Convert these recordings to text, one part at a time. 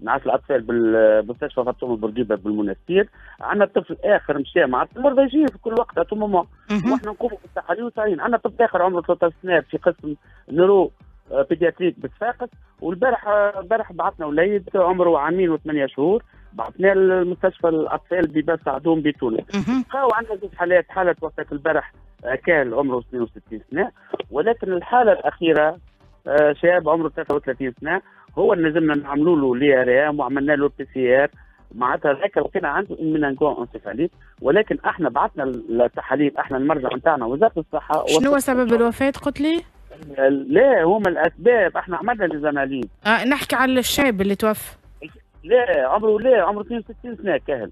انعاش الاطفال بالمستشفى فاطمة بورقيبة بالمنستير. عندنا طفل اخر مشى مع المرضى يجي في كل وقت à tout moment، واحنا نقوموا بالتحاليل وصايرين. عندنا طفل اخر عمره 13 سنة في قسم neuro pédiatrique بصفاقس، والبارح البارح بعثنا وليد عمره عامين و8 شهور، بعثناه للمستشفى الاطفال بباب سعدون بتونس. بقاو عندنا زوج حالات، حاله توفت البارح كان عمره 62 سنه، ولكن الحالة الاخيرة شاب عمره 33 سنه، هو اللي نجمنا نعملوا له l'IRM وعملنا له PCR، معناتها ذاك لقينا عنده méningo-encéphalite، ولكن احنا بعثنا التحاليل، احنا المرجع نتاعنا وزارة الصحه. شنو سبب الوفاة قلت لي؟ لا، هما الاسباب احنا عملنا les analyses. نحكي على الشاب اللي توفى. لا، عمره لا، عمره 62 سنة كهل.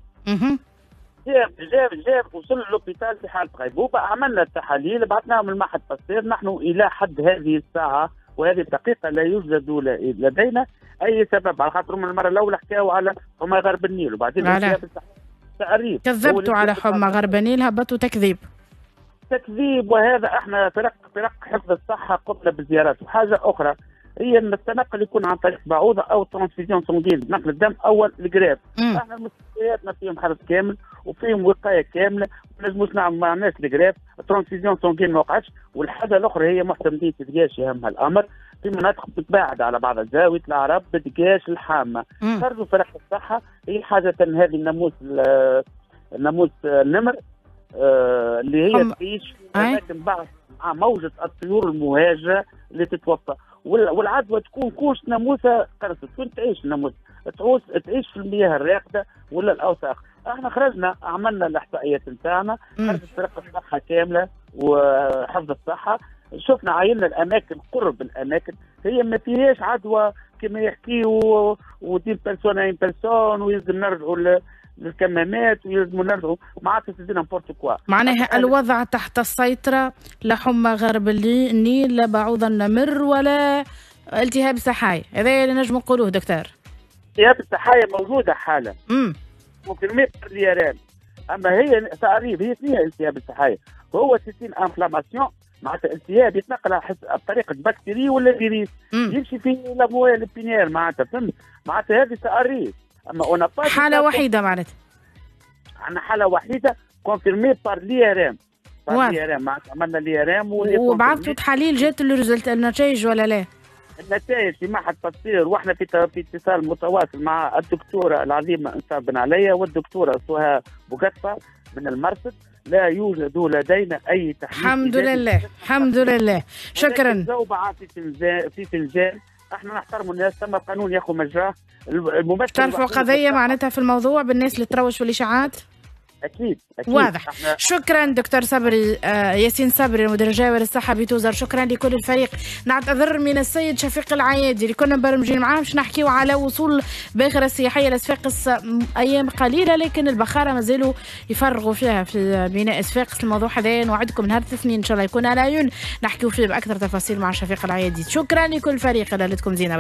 جاب جاب جاب وصل l'hôpital في حاله غيبوبه، عملنا التحاليل، بعثناهم للمعهد باستير. نحن الى حد هذه الساعة وهذه الدقيقة لا يوجد لدينا اي سبب، على خاطر من المرة الاولى حكاوا على حمى غرب النيل وبعدين تعريف كذبتوا على حمى غرب النيل، هبطوا تكذيب. تكذيب، وهذا احنا فرق حفظ الصحة قمنا بزيارات. وحاجه اخرى هي ان التنقل يكون عن طريق بعوضة او transfusion sanguine، نقل الدم او ال greffe. احنا المستشفياتنا فيهم حرس كامل وفيهم وقاية كامله، ما نجموش نعمل، ما عملناش ال greffe، transfusion sanguine ما وقعتش. والحاجة الاخرى هي معتمديه دقاش، يهمها الامر في مناطق تتباعد على بعض، زاوية العرب، دقاش، الحامه. خرجوا فرق الصحه. هي حاجة هذه الناموس، الناموس النمر اللي هي تعيش في اماكن بعض مع موجه الطيور المهاجره اللي تتوفى، والعدوى تكون couche ناموسه قرصت. وين تعيش الناموس؟ تعيش في المياه الراكده ولا الاوساخ. احنا خرجنا عملنا الاحصائيات نتاعنا، خرجت فرق الصحة كاملة وحفظ الصحه، شفنا عينا الاماكن، قرب الاماكن هي ما فيهاش عدوى كما يحكيوا و d'une personne à une personne، ويلزم نرجعوا للكمامات ويلزموا نرجعوا، معناتها c'est n'importe quoi. معناها الوضع تحت السيطرة، لا حمى غرب النيل، لا بعوض النمر، ولا التهاب سحايا، هذا اللي نجم نقولوه دكتور؟ التهاب السحايا موجودة حالة confirmée par l'IRM، اما هي تعريف هي فيها التهاب السحايا هو c'est une inflammation، معناتها التهاب يتنقل بطريقة بكتيريا ولا فيروس، يمشي في la moelle épinière، معناتها فهمت، معناتها هذه تعريف اما on n'a pas حاله وحيده معناتها. عندنا حاله وحيده confirmée par l'IRM. l'IRM، عملنا l'IRM. وبعثتوا تحاليل، جات ال résultats، النتائج ولا لا؟ النتائج في معهد باستير، واحنا في اتصال متواصل مع الدكتورة العظيمة انصاف بن عليا والدكتورة سهى بوقطفه من المرصد. لا يوجد لدينا اي تحليل. الحمد لله، الحمد لله، شكرا. زوبعة في فنجان، احنا نحترم الناس، ثم القانون ياخذ مجراه. الممثل ترفعوا قضية معناتها في الموضوع بالناس اللي تروج في الاشاعات؟ اكيد اكيد. واضح. شكرا دكتور صبري ياسين صبري، المدير الجهوي للصحة بتوزر. شكرا لكل الفريق. نعتذر من السيد شفيق العيادي اللي كنا مبرمجين معاه باش نحكيو على وصول باخره السياحية لصفاقس ايام قليله، لكن البخاره مازالوا يفرغوا فيها في ميناء صفاقس. الموضوع هذا نوعدكم نهار الاثنين ان شاء الله يكون على عيون نحكيو فيه باكثر تفاصيل مع شفيق العيادي. شكرا لكل الفريق، ليلتكم زينه.